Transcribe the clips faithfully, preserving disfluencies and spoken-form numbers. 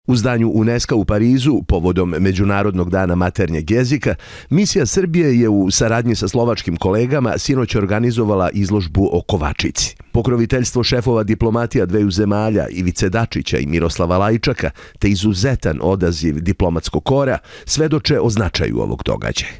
U zdanju UNESCO u Parizu, povodom Međunarodnog dana maternjeg jezika, misija Srbije je u saradnji sa slovačkim kolegama sinoć organizovala izložbu o Kovačici. Pokroviteljstvo šefova diplomatija dveju zemalja, Ivice Dačića i Miroslava Lajčaka, te izuzetan odaziv diplomatskog kora, svedoče o značaju ovog događaja.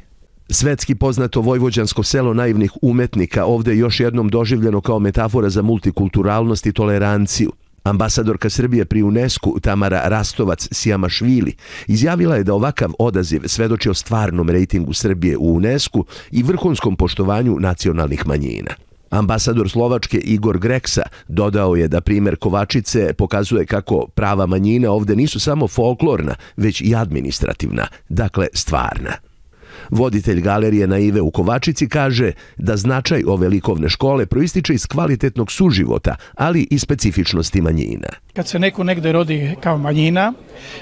Svetski poznato vojvođansko selo naivnih umetnika ovde je još jednom doživljeno kao metafora za multikulturalnost i toleranciju. Ambasadorka Srbije pri UNESCO Tamara Rastovac-Sijamašvili izjavila je da ovakav odaziv svedoči o stvarnom rejtingu Srbije u UNESCO i vrhunskom poštovanju nacionalnih manjina. Ambasador Slovačke Igor Greksa dodao je da primer Kovačice pokazuje kako prava manjina ovde nisu samo folklorna, već i administrativna, dakle stvarna. Voditelj galerije Naive u Kovačici kaže da značaj ove likovne škole proističe iz kvalitetnog suživota, ali i specifičnosti manjina. Kad se neko negde rodi kao manjina,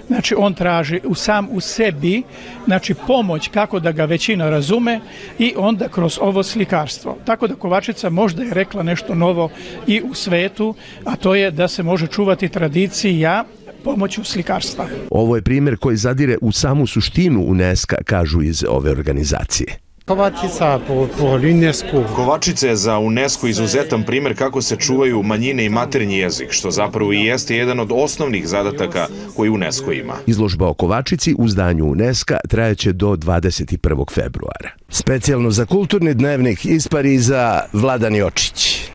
znači on traži u sam u sebi, znači pomoć kako da ga većina razume i onda kroz ovo slikarstvo. Tako da Kovačica možda je rekla nešto novo i u svetu, a to je da se može čuvati tradicija pomoću slikarstva. Ovo je primjer koji zadire u samu suštinu UNESCO, kažu iz ove organizacije. Kovačica po, po UNESCO. Kovačica je za UNESCO izuzetan primjer kako se čuvaju manjine i maternji jezik, što zapravo i jeste jedan od osnovnih zadataka koji UNESCO ima. Izložba o Kovačici u zdanju UNESCO trajaće do dvadeset prvog februara. Specijalno za Kulturni dnevnik iz Pariza, Vladan Jočić.